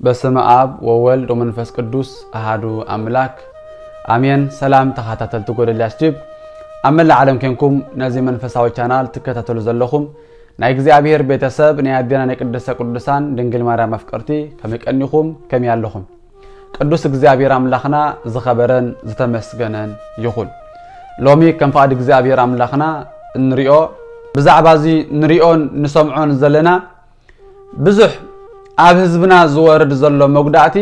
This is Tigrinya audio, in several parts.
በስመ አብ ወወልድ ወመንፈስ ቅዱስ አሃዱ አምላክ አሜን። ሰላም ተኸታተልቲ ጎደልያስ ቲዩብ፣ ኣብ መላእ ዓለም ኮንኩም ነዚ መንፈሳዊ ቻናል ትከታተሉ ዘለኹም ናይ እግዚኣብሔር ቤተሰብ፣ ናይ ኣዴና ናይ ቅድስተ ቅዱሳን ድንግል ማርያም ኣፍቀርቲ፣ ከመይ ቀኒኹም? ከመይ ኣለኹም? ቅዱስ እግዚኣብሔር ኣምላኽና ዝኸበረን ዝተመስገነን ይኹን። ሎሚ ከም ፍቓድ እግዚኣብሔር ኣምላኽና እንሪኦ፣ ብዛዕባ እዚ ንሪኦን ንሰምዖን ዘለና ብዙሕ ኣብ ህዝብና ዝወርድ ዘሎ መጉዳእቲ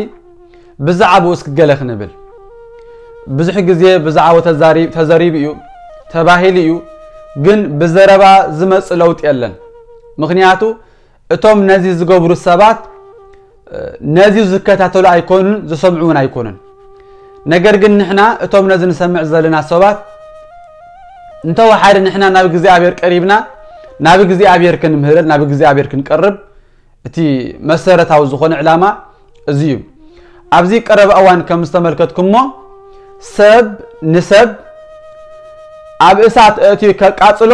ብዛዕባኡ እስኪ ገለ ክንብል። ብዙሕ ግዜ ብዛዕባኡ ተዛሪ-፣ ተዘሪቡ እዩ፣ ተባሂሉ እዩ፣ ግን ብዘረባ ዝመጽእ ለውጢ የለን። ምኽንያቱ እቶም ነዚ ዝገብሩ ሰባት፣ እ፣ ነዚ ዝከታተሉ ኣይኮኑን፣ ዝሰምዑ እውን ኣይኮኑን። ነገር ግን ንሕና እቶም ነዚ ንሰምዕ ዘለና ሰባት፣ እንተወሓደ ንሕና ናብ እግዚኣብሔር ቀሪብና፣ ናብ እግዚኣብሔር ክንምህረል፣ ናብ እግዚኣብሔር ክንቀርብ፣ እቲ መሰረታዊ ዝኾነ ዕላማ እዚ እዩ። ኣብዚ ቀረባ እዋን ከም ዝተመልከትኩሞ፣ ሰብ ንሰብ ኣብ እሳት ኣእትዩ ከቃጽሎ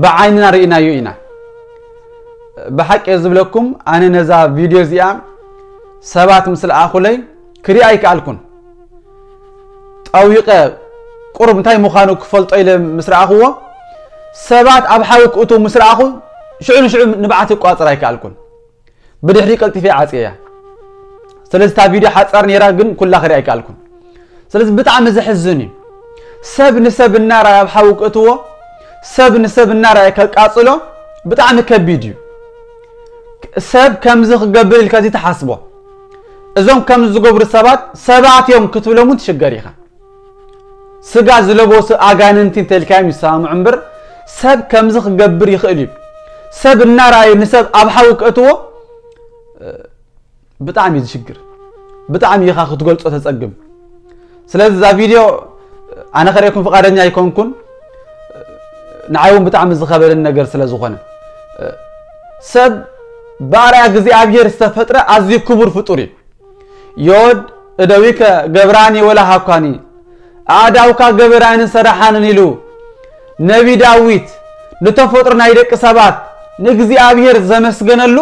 ብዓይንና ርኢናዮ ኢና። ብሓቂ እየ ዝብለኩም፣ ኣነ ነዛ ቪድዮ እዚኣ ሰባት ምስ ለኣኹለይ ክሪኣ ኣይከኣልኩን። ጠዊቐ ቁሩብ እንታይ ምዃኑ ክፈልጦ ኢለ ምስ ረኣኽዎ፣ ሰባት ኣብ ሓዊ ክእትዉ ምስ ረኣኹ፣ ሽዑ ንሽዑ ንብዓት ክቋጽር ኣይከኣልኩን። ብድሕሪ ቀልጢፈ ዓጽየያ። ስለዚ እታ ቪድዮ ሓጻር ነይራ፣ ግን ኩላ ክሪኣ ኣይከኣልኩን። ስለዚ ብጣዕሚ ዘሕዝን እዩ። ሰብ ንሰብ እናረኣየ ኣብ ሓዊ ክእትዎ፣ ሰብ ንሰብ እናረኣየ ከቃጽሎ ብጣዕሚ ከቢድ እዩ። ሰብ ከምዚ ክገብር ኢልካ እዚ ትሓስቦ። እዞም ከምዚ ዝገብሩ ሰባት ሰባት እዮም ክትብሎም እውን ትሽገር ኢኻ። ስጋ ዝለበሱ ኣጋንንቲ እንተልካዮም ይሰማምዑ እምበር፣ ሰብ ከምዚ ክገብር ይኽእል እዩ። ሰብ እናረኣዩ ንሰብ ኣብ ሓዊ ክእትዎ፣ እ፣ ብጣዕሚ እዩ ዝሽግር። ብጣዕሚ ኢኻ ክትገልጾ ተጸግም። ስለዚ እዛ ቪድዮ ኣነ ከርእየኩም ፍቓደኛ ኣይኮንኩን። ንዓይ እውን ብጣዕሚ ዝኸበደኒ ነገር ስለ ዝኾነ፣ እ፣ ሰብ ብኣርኣያ እግዚኣብሔር ዝተፈጥረ ኣዝዩ ክቡር ፍጡር እዩ። ዮድ እደዊከ ገብራኒ ወላ ሃኳኒ፣ ኣእዳውካ ገበራንን ሰራሓንን ኢሉ ነቢ ዳዊት ንተፈጥሮ ናይ ደቂ ሰባት ንእግዚኣብሔር ዘመስገነሉ፣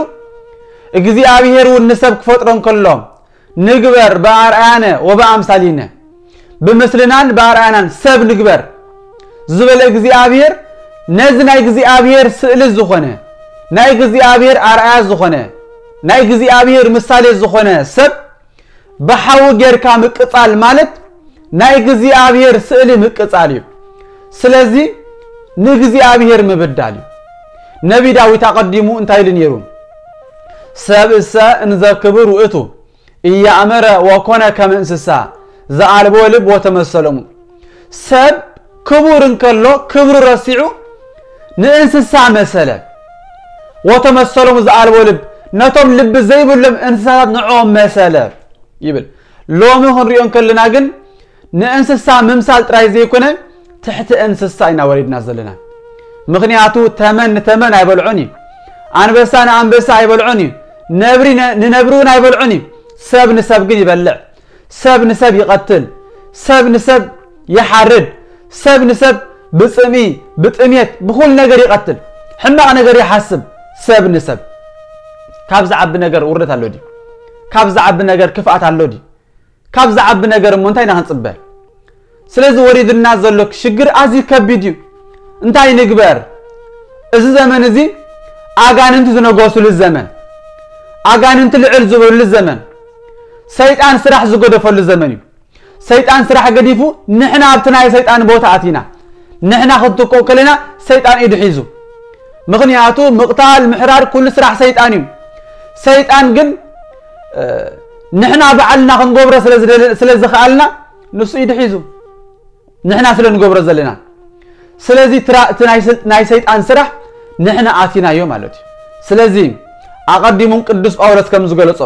እግዚኣብሔር እውን ንሰብ ክፈጥሮ እንከሎ፣ "ንግበር በኣርኣያነ ወበኣምሳሊነ፣ ብምስልናን በኣርኣያናን ሰብ ንግበር" ዝበለ እግዚኣብሔር፣ ነዚ ናይ እግዚኣብሔር ስእሊ ዝኾነ፣ ናይ እግዚኣብሔር ኣርኣያ ዝኾነ፣ ናይ እግዚኣብሔር ምሳሌ ዝኾነ ሰብ ብሓዊ ጌርካ ምቅጻል ማለት ናይ እግዚኣብሔር ስእሊ ምቅጻል እዩ። ስለዚ ንእግዚኣብሔር ምብዳል እዩ። ነቢ ዳዊት ኣቐዲሙ እንታይ ኢሉ ነይሩ? "ሰብእሰ እንዘ ክቡር ውእቱ ኢያእመረ ወኮነ ከመ እንስሳ ዘኣልቦ ልብ ወተመሰሎሙ።" ሰብ ክቡር እንከሎ ክብሩ ረሲዑ ንእንስሳ መሰለ። "ወተመሰሎሙ ዘኣልቦ ልብ"፣ ነቶም ልቢ ዘይብሎም እንስሳታት ንዕኦም መሰለ ይብል። ሎሚ ክንሪኦ እንከለና ግን ንእንስሳ ምምሳል ጥራይ ዘይኮነ ትሕቲ እንስሳ ኢና ወሪድና ዘለና። ምኽንያቱ ተመን ንተመን ኣይበልዖን እዩ። ኣንበሳ ንኣንበሳ ኣይበልዖን እዩ። ነብሪ ነ-፣ ንነብሪ እውን ኣይበልዖን እዩ። ሰብ ንሰብ ግን ይበልዕ። ሰብ ንሰብ ይቐትል። ሰብ ንሰብ ይሓርድ። ሰብ ንሰብ ብጽምኢ፣ ብጥሜት፣ ብኹሉ ነገር ይቐትል። ሕማቕ ነገር ይሓስብ። ሰብ ንሰብ ካብ ዝዓቢ ነገር ውርደት ኣሎ ድዩ? ካብ ዝዓቢ ነገር ክፍኣት ኣሎ ድዩ? ካብ ዝዓቢ ነገር እሞ እንታይ ኢና ክንጽበ? ስለዚ ወሪድና ዘሎ ሽግር ኣዝዩ ከቢድ እዩ። እንታይ ንግበር? እዚ ዘመን እዚ ኣጋንንቲ ዝነገሱሉ ዘመን፣ ኣጋንንቲ ልዕል ዝበሉሉ ዘመን፣ ሰይጣን ስራሕ ዝገደፈሉ ዘመን እዩ። ሰይጣን ስራሕ ገዲፉ ንሕና ኣብቲ ናይ ሰይጣን ቦታ ኣቲና። ንሕና ክንትኮ ከለና ሰይጣን ኢዱ ሒዙ። ምኽንያቱ ምቕታል፣ ምሕራድ ኩሉ ስራሕ ሰይጣን እዩ። ሰይጣን ግን፣ እ፣ ንሕና ባዕልና ክንገብሮ ስለ ዝደለ-፣ ስለ ዝኸኣልና ንሱ ኢዱ ሒዙ። ንሕና ስለ ንገብሮ ዘለና። ስለዚ ትራ-፣ እቲ ናይ ስል-፣ ናይ ሰይጣን ስራሕ ንሕና ኣቲናዮ ማለት እዩ። ስለዚ ኣቐዲሙን ቅዱስ ጳውሎስ ከም ዝገለጾ፣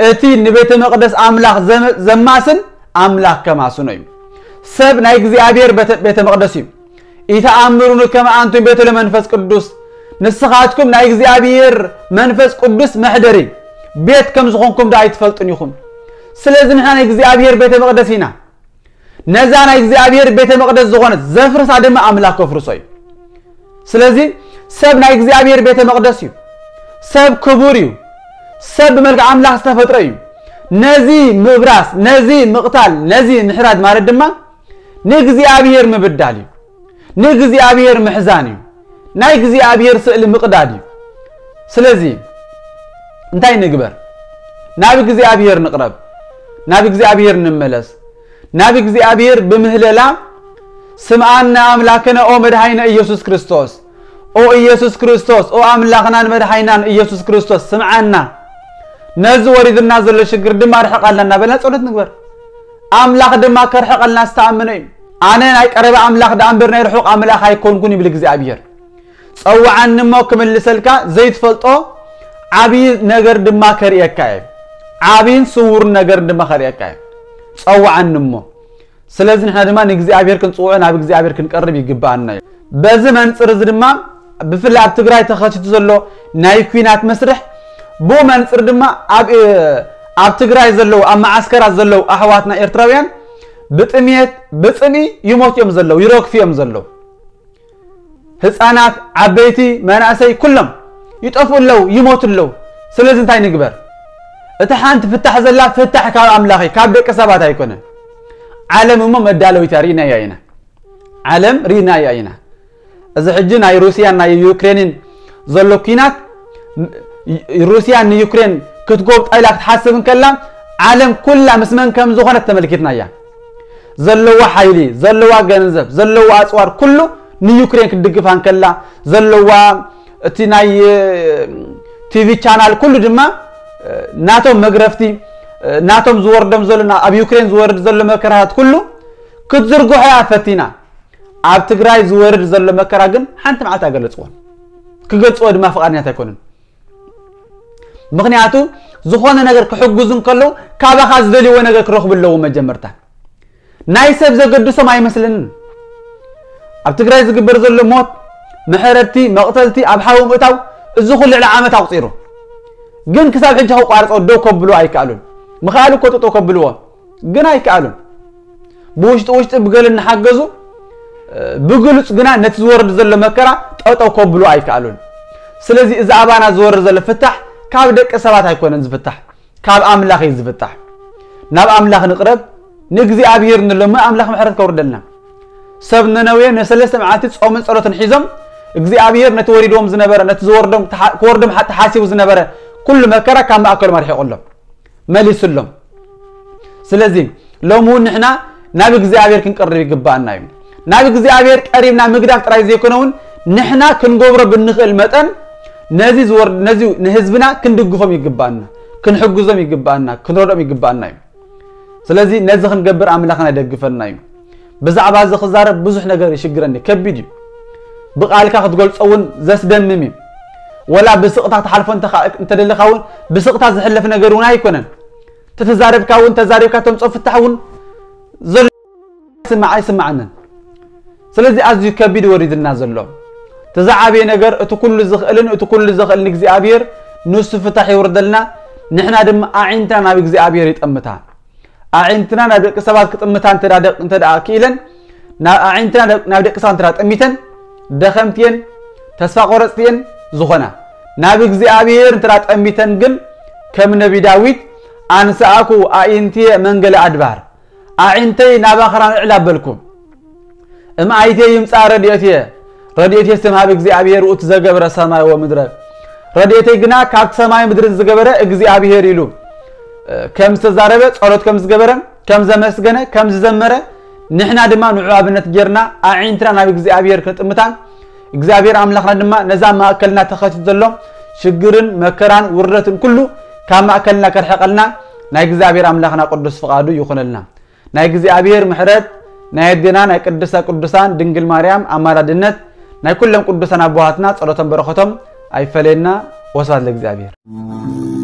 እቲ ንቤተ መቕደስ ኣምላኽ ዘመ-፣ ዘማስን ኣምላኽ ከማስኖ እዩ። ሰብ ናይ እግዚኣብሔር ቤተ፣ ቤተ መቕደስ እዩ። "ኢተኣምሩኒ ከመ ኣንቱም ቤተ ለመንፈስ ቅዱስ"፣ ንስኻትኩም ናይ እግዚኣብሔር መንፈስ ቅዱስ መሕደሪ ቤት ከም ዝኾንኩም ዶ ኣይትፈልጡን ኢኹም? ስለዚ ንሕና ናይ እግዚኣብሔር ቤተ መቕደስ ኢና። ነዛ ናይ እግዚኣብሔር ቤተ መቕደስ ዝኾነት ዘፍርሳ ድማ ኣምላኽ ከፍርሶ እዩ። ስለዚ ሰብ ናይ እግዚኣብሔር ቤተ መቕደስ እዩ። ሰብ ክቡር እዩ። ሰብ ብመልክዕ ኣምላኽ ዝተፈጥረ እዩ። ነዚ ምብራስ፣ ነዚ ምቕታል፣ ነዚ ምሕራድ ማለት ድማ ንእግዚኣብሔር ምብዳል እዩ። ንእግዚኣብሔር ምሕዛን እዩ። ናይ እግዚኣብሔር ስእሊ ምቕዳድ እዩ። ስለዚ እንታይ ንግበር? ናብ እግዚኣብሔር ንቕረብ። ናብ እግዚኣብሔር ንመለስ። ናብ እግዚኣብሔር ብምህለላ ስምዓና ኣምላክነ ኦ መድሃይነ ኢየሱስ ክርስቶስ፣ ኦ ኢየሱስ ክርስቶስ፣ ኦ ኣምላኽናን መድሃይናን ኢየሱስ ክርስቶስ ስምዓና፣ ነዚ ወሪድና ዘሎ ሽግር ድማ ኣርሕቓልና እናበልና ጸሎት ንግበር። ኣምላኽ ድማ ከርሕቐልና ዝተኣመነ እዩ። ኣነ ናይ ቀረባ ኣምላኽ ደኣ እምበር ናይ ርሑቕ ኣምላኽ ኣይኮንኩን ይብል እግዚኣብሔር። ጸውዓኒ እሞ ክምልሰልካ ዘይትፈልጦ ዓብዪ ነገር ድማ ከርእየካ እየ። ዓብይን ስውር ነገር ድማ ከርእየካ እየ። ጸውዓኒ እሞ። ስለዚ ንሕና ድማ ንእግዚኣብሔር ክንጽውዖ ናብ እግዚኣብሔር ክንቀርብ ይግብኣና እዩ። በዚ መንጽር እዚ ድማ ብፍላይ ኣብ ትግራይ ተኸሲቱ ዘሎ ናይ ኲናት መስርሕ ብኡ መንጽር ድማ ኣብ ኣብ ትግራይ ዘለዉ ኣብ መዓስከራት ዘለዉ ኣሕዋትና ኤርትራውያን ብጥምየት ብጽምኢ ይሞቱ እዮም ዘለዉ፣ ይረግፉ እዮም ዘለዉ። ህፃናት፣ ዓበይቲ፣ መናእሰይ ኩሎም ይጠፍኡ ኣለዉ፣ ይሞቱ ኣለዉ። ስለዚ እንታይ ንግበር? እቲ ሓንቲ ፍታሕ ዘላ ፍታሕ ካብ ኣምላኽ እዩ፣ ካብ ደቂ ሰባት ኣይኮነን። ዓለም እሞ መዳለዊታ ርኢናያ ኢና። ዓለም ርኢናያ ኢና። እዚ ሕጂ ናይ ሩስያን ናይ ዩክሬንን ዘሎ ኲናት፣ ሩስያ ንዩክሬን ክትጎብጣ ኢላ ክትሓስብ እንከላ ዓለም ኩላ ምስ መን ከም ዝኾነት ተመልኪትናያ። ዘለዋ ሓይሊ፣ ዘለዋ ገንዘብ፣ ዘለዋ ኣፅዋር ኩሉ ንዩክሬን ክትድግፋ እንከላ ዘለዋ እቲ ናይ ቲቪ ቻናል ኩሉ ድማ ናቶም መግረፍቲ ናቶም ዝወርዶም ዘሎ ኣብ ዩክሬን ዝወርድ ዘሎ መከራታት ኩሉ ክትዝርግሖ እያ ፈቲና። ኣብ ትግራይ ዝወርድ ዘሎ መከራ ግን ሓንቲ መዓልቲ ኣይገለፅዎን። ክገልፅዎ ድማ ፍቓድኛት ኣይኮኑን። ምኽንያቱ ዝኾነ ነገር ክሕግዙ እንከለዉ ካባኻ ዝደልይዎ ነገር ክረኽቡ ኣለዎም። መጀመርታ ናይ ሰብ ዘገድሶም ኣይመስለንን። ኣብ ትግራይ ዝግበር ዘሎ ሞት፣ መሕረድቲ፣ መቕተልቲ፣ ኣብ ሓዊ ምእታው፣ እዚ ኩሉ ልዕሊ ዓመት ኣቑፂሩ። ግን ክሳብ ሕጂ ከቋርጾ ደው ከብሉ ኣይከኣሉን። ምኽኣሉ እኮ ጠጠው ከብልዎ ግን ኣይከኣሉን። ብውሽጢ ውሽጢ ብገለ እናሓገዙ ብግሉጽ ግና ነቲ ዝወርድ ዘሎ መከራ ጠጠው ከብሉ ኣይከኣሉን። ስለዚ እዚ ኣባና ዝወርድ ዘሎ ፍታሕ ካብ ደቂ ሰባት ኣይኮነን ዝፍታሕ፣ ካብ ኣምላኽ እዩ ዝፍታሕ። ናብ ኣምላኽ ንቕረብ፣ ንእግዚኣብሔር ንለምን፣ ኣምላኽ ምሕረት ከውርደልና። ሰብ ነነዌ ንሰለስተ መዓልቲ ጾምን ጸሎትን ሒዞም እግዚኣብሔር ነቲ ወሪድዎም ዝነበረ ነቲ ዝወርዶም ክወርዶም ተሓሲቡ ዝነበረ ኩሉ መከራ ካብ ማእከሎም ኣርሒቑሎም። መሊሱሎም። ስለዚ ሎሚ እውን ንሕና ናብ እግዚኣብሔር ክንቀርብ ይግባኣና እዩ። ናብ እግዚኣብሔር ቀሪብና ምግዳፍ ጥራይ ዘይኮነ እውን ንሕና ክንገብሮ ብንኽእል መጠን ነዚ ዝወርድ ነዚ ንህዝብና ክንድግፎም ይግባኣና፣ ክንሕግዞም ይግባኣና፣ ክንረድኦም ይግባኣና እዩ። ስለዚ ነዚ ክንገብር ኣምላኽና ይደግፈና እዩ። ብዛዕባ እዚ ክዛረብ ብዙሕ ነገር ይሽግረኒ፣ ከቢድ እዩ። ብቓልካ ክትገልጾ እውን ዘስደምም እዩ። ወላ ብስቕታ ክትሓልፎ እንተደለኻ እውን ብስቕታ ዝሕለፍ ነገር እውን ኣይኮነን። ተተዛረብካ እውን ተዛሪብካ ተምፅኦ ፍታሕ እውን ዘሎ ስማዕ ኣይስማዓንን። ስለዚ ኣዝዩ ከቢድ ወሪድና ዘሎ እቲ ዝዓበየ ነገር እቲ ኩሉ ዝኽእልን እቲ ኩሉ ዘኽእልን እግዚኣብሔር ንሱ ፍታሕ ይውርደልና። ንሕና ድማ ኣዒንትና ናብ እግዚኣብሔር ይጠምታ። ኣዒንትና ናብ ደቂ ሰባት ክጥምታ እንተ ደኣ ክኢለን፣ ኣዒንትና ናብ ደቂ ሰባት እንተ ጠሚተን ደኸምትየን ተስፋ ቆረፅትየን ዝኾና ናብ እግዚኣብሔር እንተ ጠሚተን ግን ከም ነቢ ዳዊት ኣንስኣኩ ኣዒንትየ መንገለ ኣድባር፣ ኣዒንተይ ናብ ኣኽራን ኣዕላ በልኩ። እምኣይትየ ይምጻእ ረድኤትየ፣ ረድኤትየ ስም ሃብ እግዚኣብሔር ውእቱ ዘገብረ ሰማይ ወምድረ፣ ረድኤተይ ግና ካብቲ ሰማይ ምድርን ዝገበረ እግዚኣብሔር ኢሉ ከም ዝተዛረበ፣ ጸሎት ከም ዝገበረ፣ ከም ዘመስገነ፣ ከም ዝዘመረ፣ ንሕና ድማ ንዑ ኣብነት ጌርና ኣዒንትና ናብ እግዚኣብሔር ክንጥምታ እግዚኣብሔር ኣምላኽና ድማ ነዛ ማእከልና ተኸቲቱ ዘሎ ሽግርን መከራን ውርደትን ኩሉ ካብ ማእከልና ከርሕቐልና ናይ እግዚኣብሔር ኣምላኽና ቅዱስ ፍቓዱ ይኹነልና። ናይ እግዚኣብሔር ምሕረት፣ ናይ ኣዴና ናይ ቅድስተ ቅዱሳን ድንግል ማርያም ኣማላድነት፣ ናይ ኩሎም ቅዱሳን ኣቦሃትና ጸሎቶም በረኸቶም ኣይፈለየና። ወስብሐት ለእግዚኣብሔር።